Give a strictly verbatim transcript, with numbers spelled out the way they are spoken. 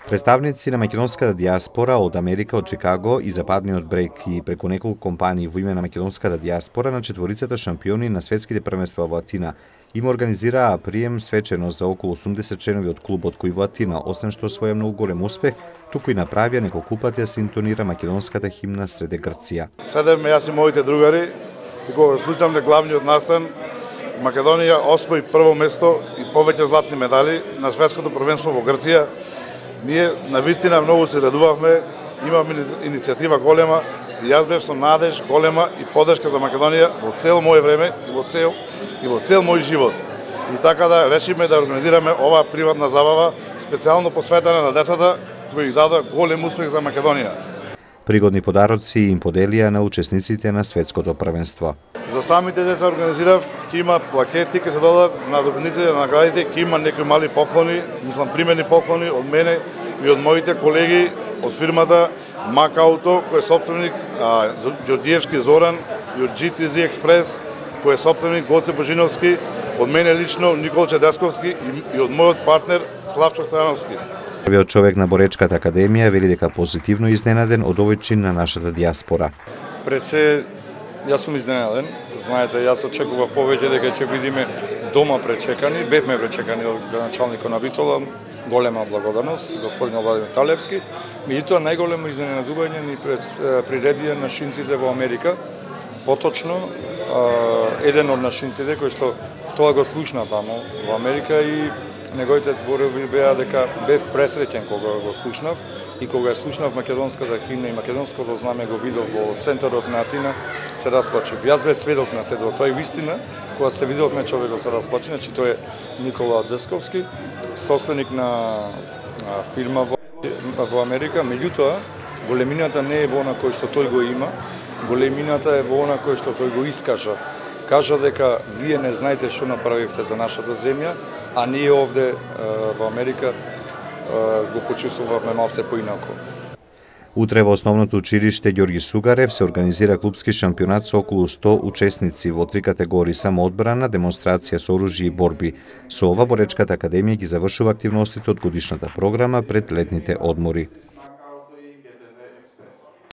Представници на македонската диаспора од Америка, од Чикаго и Западниот брег и преку неколку компании во име на македонската диаспора на четворицата шампиони на светските првенства во Атина им организираа прием свечено за околу осумдесет членови од клубот кој во Атина, освен што освоја многу голем успех, туку и направија неколку пати да се интонира македонската химна среде Грција. Седеме јас и моите другари и кога слушам на главниот настан, Македонија освои прво место и повеќе златни медали на светското првенство во Грција. Ние навистина многу се радувавме, имаме иницијатива голема и јас бев со надеж голема и поддршка за Македонија во цел моје време и во цел и во цел мој живот. И така да решиме да организираме оваа приватна забава специјално посветена на децата кои дадоа голем успех за Македонија. Пригодни подароци им поделија на учесниците на светското првенство. За самите деца организирав, ќе има плакети, ќе се додадат на добитниците на наградите, ќе има некои мали поклони, мислам примерни поклони од мене и од моите колеги од фирмата Мак Ауто, кој е собственик а, Ѓорѓиевски Зоран, и од джи ти зет Експрес, кој е собственик Гоце Божиновски, од мене лично Никол Чедесковски и, и од мојот партнер Славчо Стојановски. Првиот човек на Боречката академија вели дека позитивно изненаден од овој чин на нашата диаспора. Пред се, јас сум изненаден. Знаете, јас очекував повеќе дека ќе бидеме дома пречекани, бевме пречекани од началникот на Битола, голема благодарност, господин Владимир Талевски. Меѓутоа, најголемо изненадување ни приредија нашинците во Америка. Поточно, еден од нашинците кој што тоа го слушна таму во Америка и неговите зборови беа дека бев пресреќен кога го слушнав и кога ја слушнав македонската химна и македонското знаме го видов во центарот на Атина, се расплачив. Јас бев сведок на сето тоа и вистина, кога се видовме човекот се расплачи, значи тој е Никола Десковски, собственик на фирма во, во Америка, меѓутоа големината не е во она кој што тој го има, големината е во она кој што тој го искажа. Кажа дека вие не знаете што направивте за нашата земја, а ние овде во Америка го почувствувавме малце поинако. Утре во основното училиште Ѓорги Сугарев се организира клупски шампионат со околу сто учесници во три категории: самоодбрана, демонстрација со оружје и борби. Со ова Боречката академија ги завршува активностите од годишната програма пред летните одмори.